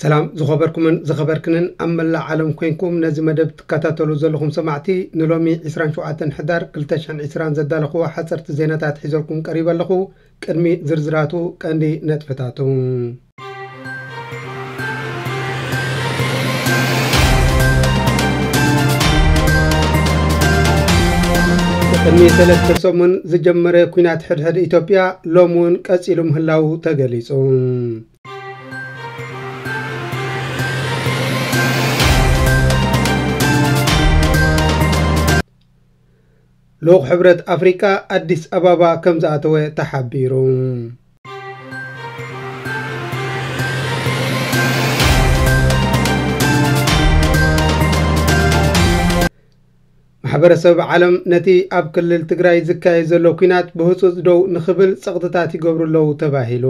ሰላም ዝኸበርኩምን ዝኸበርክንን ኣብ መላእ ዓለም ኮይንኩም ነዚ መደብ ትከታተሉ ዘለኹም ሰማዕቲ፣ ንሎሚ ዕስራን ሸውዓተን ሕዳር ክልተ ሽሕን ዕስራን ዘዳለኽዎ ሓፀርቲ ዜናታት ሒዘልኩም ቀሪበ ኣለኹ። ቅድሚ ዝርዝራቱ ቀንዲ ነጥብታቱ። ቅድሚ ሰለስተ ሰሙን ዝጀመረ ኲናት ሕድሕድ ኢትዮጵያ ሎም እውን ቀጺሉ ምህላዉ ተገሊጹ። ልኡኽ ሕብረት ኣፍሪቃ ኣዲስ ኣበባ ከም ዝኣተወ ተሓቢሩ። ማሕበረሰብ ዓለም ነቲ ኣብ ክልል ትግራይ ዝካየድ ዘሎ ኲናት ብህጹጽ ደው ንኽብል ጸቕጥታት ይገብሩ ኣለዉ ተባሂሉ።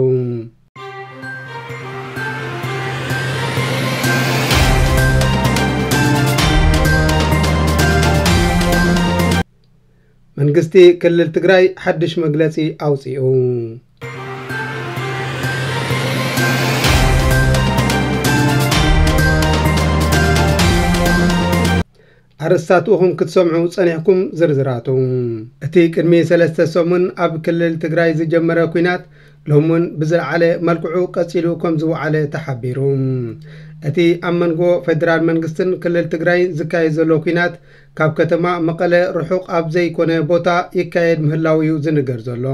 መንግስቲ ክልል ትግራይ ሓድሽ መግለጺ ኣውጺኡ። ኣርእስታቱ ኢኹም ክትሰምዑ ጸኒሕኩም ዝርዝራቱ። እቲ ቅድሚ ሰለስተ ሰሙን ኣብ ክልል ትግራይ ዝጀመረ ኲናት ሎምን ብዝለዓለ መልክዑ ቀጺሉ ከም ዝወዓለ ተሓቢሩ። እቲ ኣብ መንጎ ፌደራል መንግስትን ክልል ትግራይን ዝካየድ ዘሎ ኲናት ካብ ከተማ መቐለ ርሑቕ ኣብ ዘይኮነ ቦታ ይካየድ ምህላው እዩ ዝንገር ዘሎ።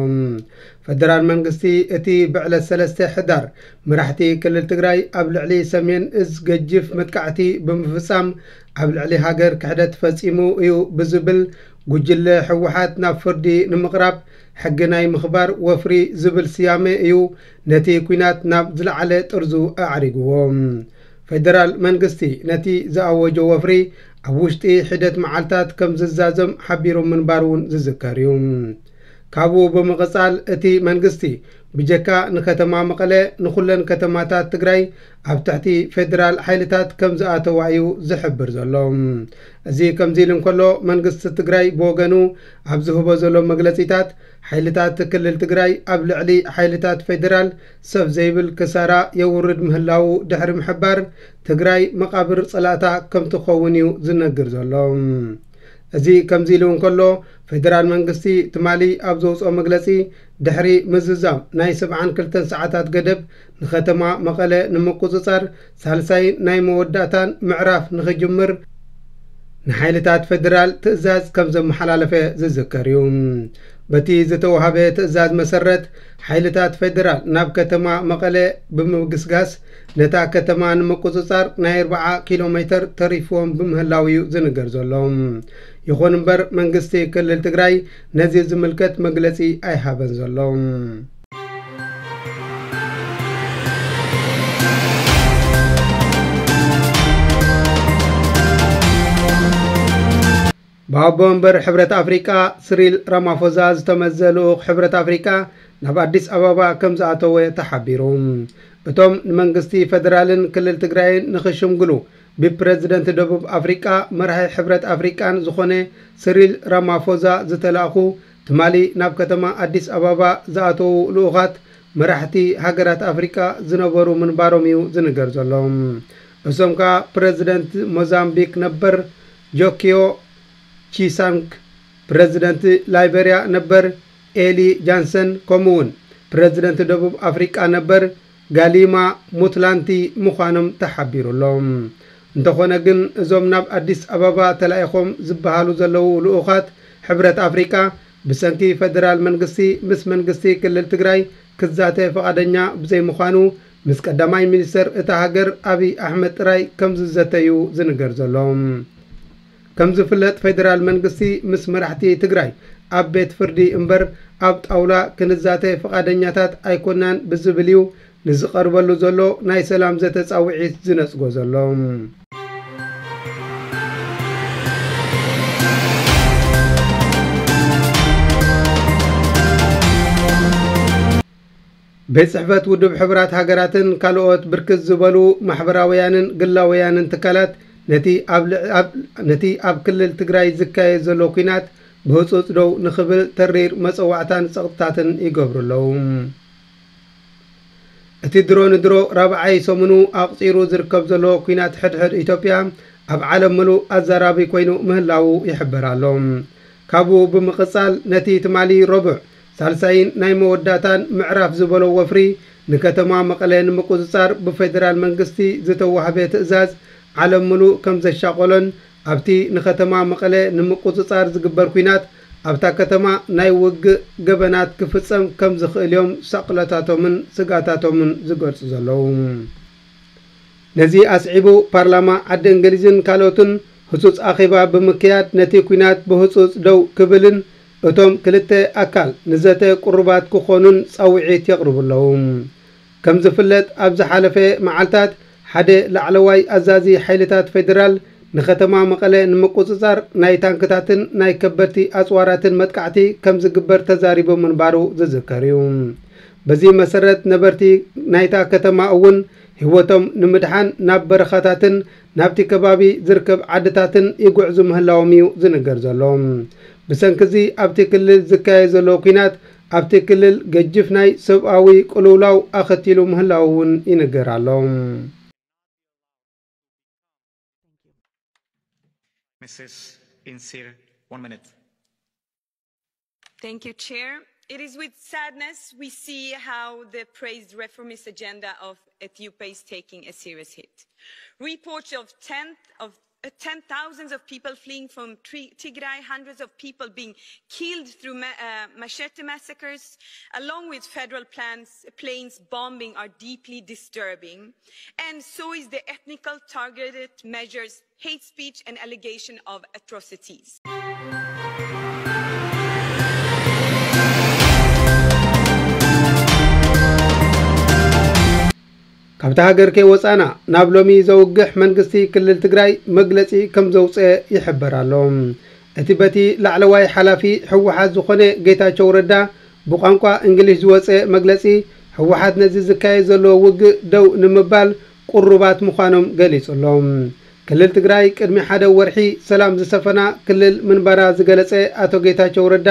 ፌደራል መንግስቲ እቲ ብዕለት ሰለስተ ሕዳር መራሕቲ ክልል ትግራይ ኣብ ልዕሊ ሰሜን እዝ ገጅፍ መጥቃዕቲ ብምፍጻም ኣብ ልዕሊ ሃገር ክሕደት ፈጺሙ እዩ ብዝብል ጉጅለ ህወሓት ናብ ፍርዲ ንምቕራብ ሕጊ ናይ ምኽባር ወፍሪ ዝብል ስያመ እዩ ነቲ ኲናት ናብ ዝለዓለ ጥርዙ ኣዕሪግዎ። ፌደራል መንግስቲ ነቲ ዝኣወጆ ወፍሪ ኣብ ውሽጢ ሒደት መዓልታት ከም ዝዛዘም ሓቢሩ ምንባሩ እውን ዝዝከር እዩ። ካብኡ ብምቕጻል እቲ መንግስቲ ብጀካ ንከተማ መቐለ ንኹለን ከተማታት ትግራይ ኣብ ትሕቲ ፌደራል ሓይልታት ከም ዝኣተዋ እዩ ዝሕብር ዘሎ። እዚ ከምዚ ኢሉ እንከሎ መንግስቲ ትግራይ ብወገኑ ኣብ ዝህቦ ዘሎ መግለጺታት ሓይልታት ክልል ትግራይ ኣብ ልዕሊ ሓይልታት ፌደራል ሰብ ዘይብል ክሳራ የውርድ ምህላዉ ድሕሪ ምሕባር ትግራይ መቓብር ጸላእታ ከም ትኸውን እዩ ዝነግር ዘሎ። እዚ ከምዚ ኢሉ እንከሎ ፌደራል መንግስቲ ትማሊ ኣብ ዘውፅኦ መግለፂ ድሕሪ ምዝዛም ናይ ሰብዓን ክልተን ሰዓታት ገደብ ንከተማ መቐለ ንምቁፅፃር ሳልሳይ ናይ መወዳእታን ምዕራፍ ንኽጅምር ንሓይልታት ፌደራል ትእዛዝ ከም ዘመሓላለፈ ዝዝከር እዩ። በቲ ዝተዋሃበ ትእዛዝ መሰረት ሓይልታት ፌደራል ናብ ከተማ መቐለ ብምግስጋስ ነታ ከተማ ንምቁፅፃር ናይ ኣርብዓ ኪሎ ሜተር ተሪፍዎም ብምህላው እዩ ዝንገር ዘሎ። ይኹን እምበር መንግስቲ ክልል ትግራይ ነዚ ዝምልከት መግለፂ ኣይሃበን ዘሎ። ብኣቦ ወንበር ሕብረት ኣፍሪቃ ስሪል ራማፎዛ ዝተመዘ ልኡኽ ሕብረት ኣፍሪቃ ናብ ኣዲስ ኣበባ ከም ዝኣተወ ተሓቢሩ። እቶም ንመንግስቲ ፌደራልን ክልል ትግራይን ንኽሽምግሉ ብፕረዚደንት ደቡብ ኣፍሪቃ መራሒ ሕብረት ኣፍሪቃን ዝኾነ ስሪል ራማፎዛ ዝተላእኹ ትማሊ ናብ ከተማ ኣዲስ ኣበባ ዝኣተዉ ልኡኻት መራሕቲ ሃገራት ኣፍሪቃ ዝነበሩ ምንባሮም እዩ ዝንገር ዘሎ። እሶም ከኣ ፕረዚደንት ሞዛምቢክ ነበር ጆኪዮ ቺሳንግ፣ ፕረዚደንት ላይበርያ ነበር ኤሊ ጃንሰን፣ ከምኡውን ፕረዚደንት ደቡብ ኣፍሪቃ ነበር ጋሊማ ሙትላንቲ ምዃኖም ተሓቢሩ ኣሎ። እንተኾነ ግን እዞም ናብ ኣዲስ ኣበባ ተላኢኾም ዝበሃሉ ዘለዉ ልኡኻት ሕብረት ኣፍሪቃ ብሰንኪ ፈደራል መንግስቲ ምስ መንግስቲ ክልል ትግራይ ክዛተ ፈቓደኛ ብዘይምዃኑ ምስ ቀዳማይ ሚኒስተር እታ ሃገር ኣብይ ኣሕመድ ጥራይ ከም ዝዘተዩ ዝንገር ዘሎ። ከም ዝፍለጥ ፌደራል መንግስቲ ምስ መራሕቲ ትግራይ ኣብ ቤት ፍርዲ እምበር ኣብ ጣውላ ክንዛተ ፍቓደኛታት ኣይኮናን ብዝብል እዩ ንዝቐርበሉ ዘሎ ናይ ሰላም ዘተ ጻውዒት ዝነጽጎ ዘሎ። ቤት ጽሕፈት ውድብ ሕቡራት ሃገራትን ካልኦት ብርክት ዝበሉ ማሕበራውያንን ግላውያንን ትካላት ነቲ ኣብ ልዕ-፣ ኣብ፣ ነቲ ኣብ ክልል ትግራይ ዝካየድ ዘሎ ኲናት ብህጹጽ ደው ንኽብል ተሪር መጸዋዕታን ጸቕጥታትን ይገብሩ ኣለዉ። እቲ ድሮ ንድሮ ራብዓይ ሰሙኑ ኣቑጺሩ ዝርከብ ዘሎ ኲናት ሕድሕድ ኢትዮጵያ ኣብ ዓለም ምሉእ ኣዛራቢ ኮይኑ ምህላዉ ይሕበር ኣሎ። ካብኡ ብምቕጻል ነቲ ትማሊ ረቡዕ ሳልሳይን ናይ መወዳእታን ምዕራፍ ዝበሎ ወፍሪ ንከተማ መቐለ ንምቁጽጻር ብፌደራል መንግስቲ ዝተዋህበ ትእዛዝ ዓለም ምሉእ ከም ዘሻቖሎን ኣብቲ ንከተማ መቐለ ንምቁጽጻር ዝግበር ኲናት ኣብታ ከተማ ናይ ውግእ ገበናት ክፍጸም ከም ዝኽእል እዮም ሳቕሎታቶምን ስግኣታቶምን ዝገልጹ ዘለዉ። ነዚ ኣስዒቡ ፓርላማ ዓዲ እንግሊዝን ካልኦትን ህጹጽ ኣኼባ ብምክያድ ነቲ ኲናት ብህጹጽ ደው ክብልን እቶም ክልተ ኣካል ንዘተ ቅሩባት ክኾኑን ጻውዒት የቕርቡ ኣለዉ። ከም ዝፍለጥ ኣብ ዝሓለፈ መዓልታት ሓደ ላዕለዋይ ኣዛዚ ሓይልታት ፌደራል ንከተማ መቐለ ንምቁጽጻር ናይ ታንክታትን ናይ ከበድቲ ኣጽዋራትን መጥቃዕቲ ከም ዝግበር ተዛሪቡ ምንባሩ ዝዝከር እዩ። በዚ መሰረት ነበርቲ ናይታ ከተማ እውን ህይወቶም ንምድሓን ናብ በረኻታትን ናብቲ ከባቢ ዝርከብ ዓድታትን ይጉዕዙ ምህላዎም እዩ ዝንገር ዘሎ። ብሰንኪ እዚ ኣብቲ ክልል ዝካየድ ዘሎ ኲናት ኣብቲ ክልል ገጅፍ ናይ ሰብኣዊ ቅልውላው ኣኸቲሉ ምህላው እውን ይንገር ኣሎ። Missus Insir, one minute. Thank you, Chair. It is with sadness we see how the praised reformist agenda of Ethiopia is taking a serious hit. Reports of tens of uh, ten thousands of people fleeing from Tri- Tigray, hundreds of people being killed through ma- uh, machete massacres, along with federal plans, planes bombing, are deeply disturbing. And so is the ethnical targeted measures, hate speech, and allegation of atrocities. ካብታ ሃገር ከይወጻና ናብ ሎሚ ዘውግሕ መንግስቲ ክልል ትግራይ መግለጺ ከም ዘውፅአ ይሕበር ኣሎ። እቲ በቲ ላዕለዋይ ሓላፊ ህወሓት ዝኾነ ጌታቸው ረዳ ብቋንቋ እንግሊሽ ዝወፀ መግለፂ ህወሓት ነዚ ዝካየድ ዘሎ ውግእ ደው ንምባል ቅሩባት ምዃኖም ገሊጹ ኣሎ። ክልል ትግራይ ቅድሚ ሓደ ወርሒ ሰላም ዝሰፈና ክልል ምንባራ ዝገለጸ ኣቶ ጌታቸው ረዳ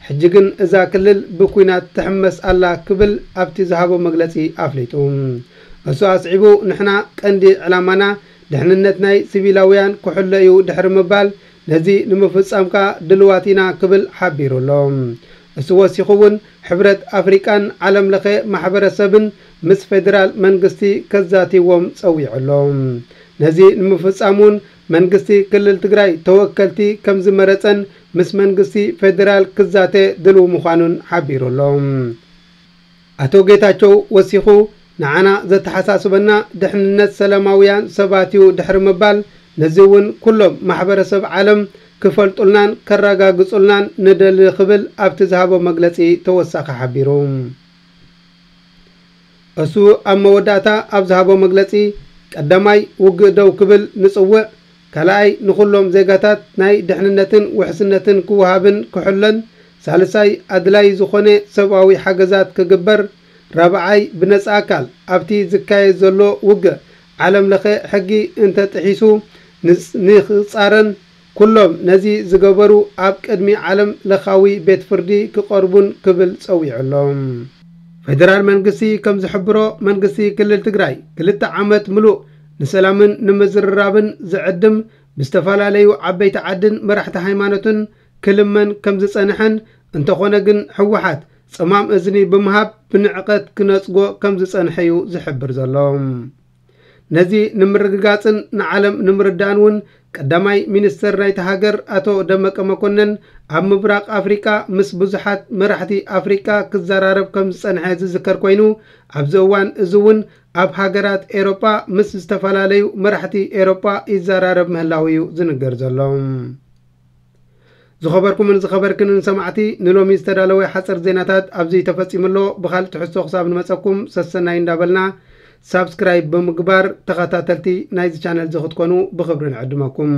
ሕጂ ግን እዛ ክልል ብኲናት ትሕመስ ኣላ ክብል ኣብቲ ዝሃቦ መግለጺ ኣፍሊጡ። እሱ ኣስዒቡ ንሕና ቀንዲ ዕላማና ድሕንነት ናይ ሲቪላውያን ክሕሎ እዩ ድሕሪ ምባል ነዚ ንምፍጻም ከኣ ድልዋት ኢና ክብል ሓቢሩ ኣሎ። እሱ ወሲኹ እውን ሕብረት ኣፍሪቃን ዓለም ለኸ ማሕበረሰብን ምስ ፌደራል መንግስቲ ከዛትይዎም ጸዊዑ ኣሎ። ነዚ ንምፍጻም እውን መንግስቲ ክልል ትግራይ ተወከልቲ ከም ዝመረጸን ምስ መንግስቲ ፌደራል ክዛተ ድልው ምዃኑን ሓቢሩ ኣሎ። ኣቶ ጌታቸው ወሲኹ ንዓና ዘተሓሳስበና ድሕንነት ሰላማውያን ሰባት እዩ ድሕሪ ምባል ነዚ እውን ኩሎም ማሕበረሰብ ዓለም ክፈልጡልናን ከረጋግጹልናን ንደሊ ክብል ኣብቲ ዝሃቦ መግለጺ ተወሳኺ ሓቢሩ። እሱ ኣብ መወዳእታ ኣብ ዝሃቦ መግለጺ ቀዳማይ ውግእ ደው ክብል ንጽውዕ፣ ካልኣይ ንኹሎም ዜጋታት ናይ ድሕንነትን ውሕስነትን ክወሃብን ክሕሎን፣ ሳልሳይ ኣድላይ ዝኾነ ሰብኣዊ ሓገዛት ክግበር፣ ራብዓይ ብነጻ ኣካል ኣብቲ ዝካየድ ዘሎ ውግእ ዓለም ለኸ ሕጊ እንተጥሒሱ ንክጻረን ኩሎም ነዚ ዝገበሩ ኣብ ቅድሚ ዓለም ለኻዊ ቤት ፍርዲ ክቐርቡን ክብል ጸዊዑ ኣሎ። ፌደራል መንግስቲ ከም ዝሕብሮ መንግስቲ ክልል ትግራይ ክልተ ዓመት ምሉእ ንሰላምን ንምዝርራብን ዝዕድም ብዝተፈላለዩ ዓበይቲ ዓድን መራሕቲ ሃይማኖትን ክልመን ከም ዝጸንሐን እንተኾነ ግን ህወሓት ጸማም እዝኒ ብምሃብ ብንዕቀት ክነጽጎ ከም ዝጸንሐ እዩ ዝሕብር ዘሎ። ነዚ ንምርግጋጽን ንዓለም ንምርዳእን እውን ቀዳማይ ሚኒስተር ናይታ ሃገር ኣቶ ደመቀ መኮነን ኣብ ምብራቕ ኣፍሪቃ ምስ ብዙሓት መራሕቲ ኣፍሪቃ ክዘራረብ ከም ዝጸንሐ ዝዝከር ኮይኑ ኣብዚ እዋን እዚ እውን ኣብ ሃገራት ኤሮጳ ምስ ዝተፈላለዩ መራሕቲ ኤሮጳ ይዘራረብ ምህላው እዩ ዝንገር ዘሎ። ዝኸበርኩምን ዝኸበርክንን ሰማዕቲ ንሎሚ ዝተዳለወ ሓፀር ዜናታት ኣብዚ ተፈፂሙ ኣሎ። ብኻልእ ትሕዝቶ ክሳብ ንመፀኩም ሰሰናይ እንዳበልና ሳብስክራይብ ብምግባር ተኸታተልቲ ናይዚ ቻነል እዚ ክትኮኑ ብኽብሪ ንዕድመኩም።